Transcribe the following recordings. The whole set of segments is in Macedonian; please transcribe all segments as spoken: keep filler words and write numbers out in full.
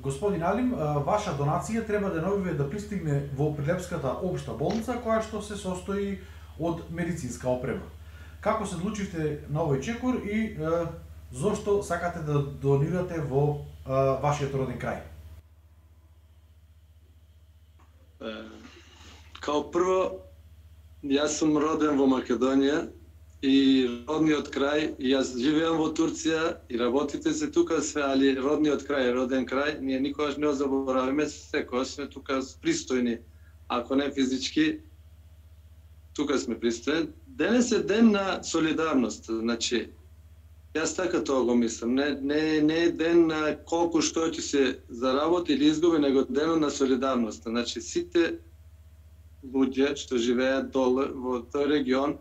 Господин Алим, ваша донација треба деновиве да пристигне во Прилепската општа болница, која што се состои од медицинска опрема. Како се одлучивте на овој чекор и е, зошто сакате да донирате во е, вашиот роден крај? Е, као прво, јас сум роден во Македонија и родниот крај, и јас живеам во Турција и работите се тука све, али родниот крај е роден крај, ние никогаш не забораваме, секогаш сме тука пристојни, ако не физички, тука сме пристојни. Денес е ден на солидарност, значи, јас така тоа го мислам, не, не, не е ден на колку што ќе се заработи или изгуби, него денот на солидарност. Значи, сите луѓе што живеат доле во тој регион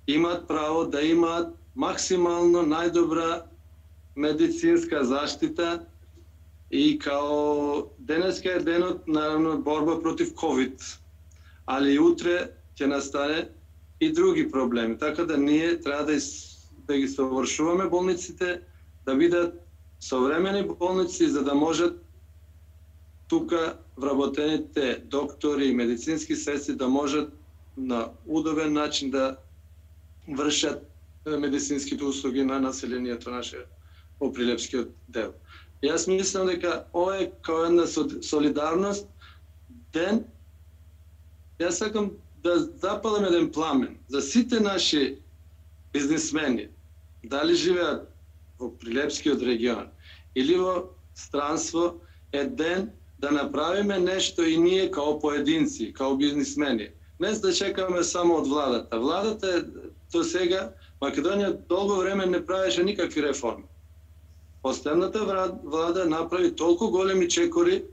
имаат право да имаат максимално најдобра медицинска заштита и као денеска е денот наравно борба против ковид, али утре ќе настане и други проблеми, така да ние треба да, из, да ги совршуваме болниците, да бидат современи болници за да можат тука вработените доктори и медицински сестри да можат на удобен начин да вршат медицинските услуги на населението наше во Прилепскиот дел. Јас мислам дека ова е као една солидарност ден. Јас сакам да запалам еден пламен за сите наши бизнисмени, дали живеат во Прилепскиот регион или во странство, е ден да направиме нешто и ние као поединци, као бизнисмени. Не да чекаме само од владата. Владата е до сега, Македонија долго време не правеше никакви реформи. Последната влада направи толку големи чекори,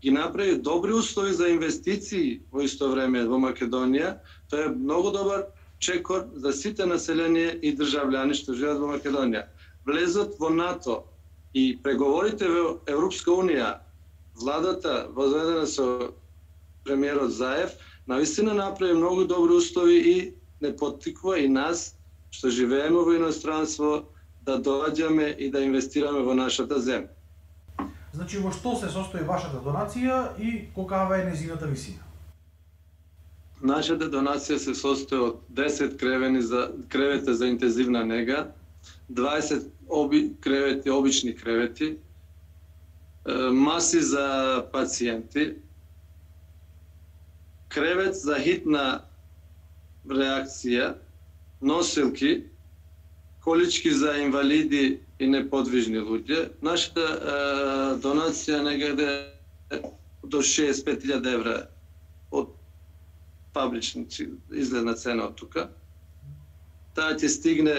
ги направи добри услови за инвестиции во исто време во Македонија. Тоа е многу добар чекор за сите население и државляни што живеат во Македонија. Влезот во НАТО и преговорите во Европска унија, владата возедена со премиерот Заев, навистина направи многу добри услови и не поттиква и нас што живееме во иностранство да доаѓаме и да инвестираме во нашата земја. Значи, во што се состои вашата донација и колкава е нејзината висина? Нашата донација се состои од десет кревени за кревета за интензивна нега, дваесет оби, кревети, обични кревети, маси за пациенти, кревет за хитна реакција, носилки, колички за инвалиди и неподвижни луѓе. Нашата е, донација некаде до шеесет и пет илјади евра од фабрични изгледна цена од тука. Таа ќе стигне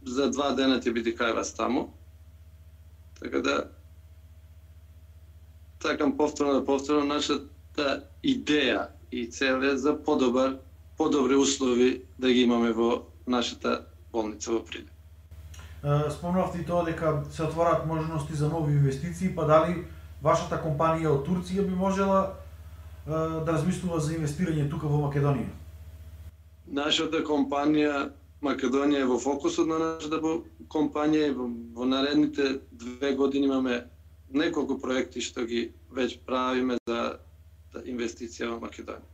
за два дена, ќе биде кај вас таму. Така да сакам повторно да повторам, нашата идеја и цел е за подобар, подобри услови да ги имаме во нашата болница во Прилеп. Спомнавте и тоа дека се отвораат можности за нови инвестиции, па дали вашата компанија од Турција би можела да размислува за инвестирање тука во Македонија? Нашата компанија Македонија е во фокусот на нашата компанија и во, во наредните две години имаме неколку проекти што ги веќе правиме за инвестиција во Македонија.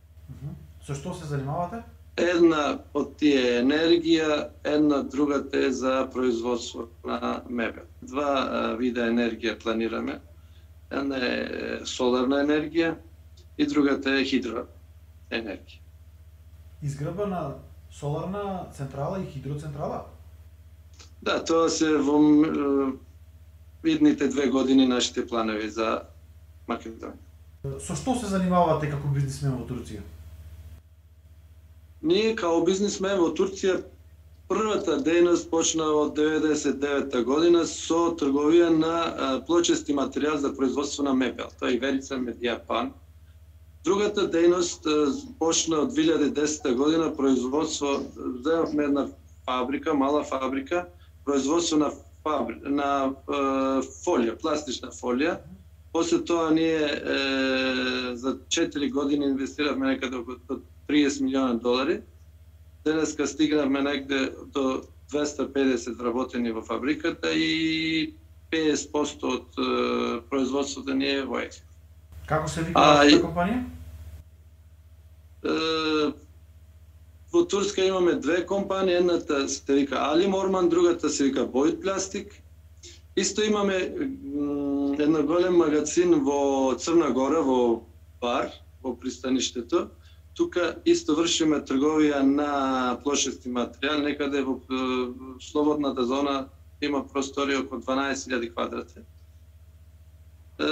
Со што се занимавате? Една од тие е енергија, една другата е за производство на мебел. Два а, вида енергија планираме. Една е соларна енергија и другата е хидроенергија. Изградба на соларна централа и хидроцентрала? Да, тоа се во идните две години нашите планови за Македонија. Со што се занимавате како бизнисмен во Турција? Ние као бизнисмен во Турција првата дејност почна од деветдесет и девета година со трговија на плочести материјал за производство на мебел. Тоа е Иверица Медијапан. Другата дејност почна од две илјади и десета година производство, земавме една фабрика, мала фабрика, производство на фабри, на е, фолија, пластична фолија. После тоа ние е, за четири години инвестиравме некаде околу триесет милиони долари. Денеска стигнавме некаде до двесте и педесет вработени во фабриката и петдесет проценти од е, производството ни е во експорт. Како се вика вашата компанија? Е, во Турска имаме две компании, едната се вика Алим Орман, другата се вика Void Plastic. Исто имаме едно голем магазин во Црна Гора, во Бар, во пристаништето. Тука исто вршиме трговија на плошести материјал, некаде во слободната зона има простори околу дванаесет илјади квадрати. Е,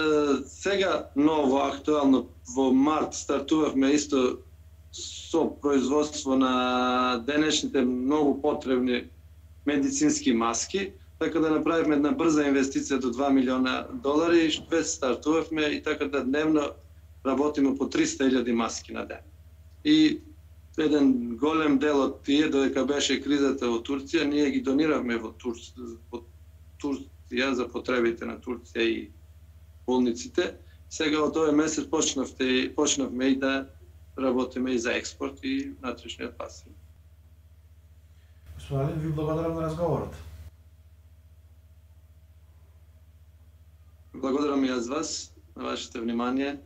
сега ново, актуално, во март стартувавме исто со производство на денешните многу потребни медицински маски, така да направивме една брза инвестиција до два милиона долари и веќе стартувавме и така да дневно работиме по триста илјади маски на ден. И еден голем дел од тие, додека беше кризата во Турција, ние ги дониравме во Турција, во Турција за потребите на Турција и болниците. Сега од овој месец почнавте, почнавме и да работиме и за експорт и внатрешниот пазар. Господин, ви благодарам на разговорот. Благодарам и аз вас, на вашето внимание.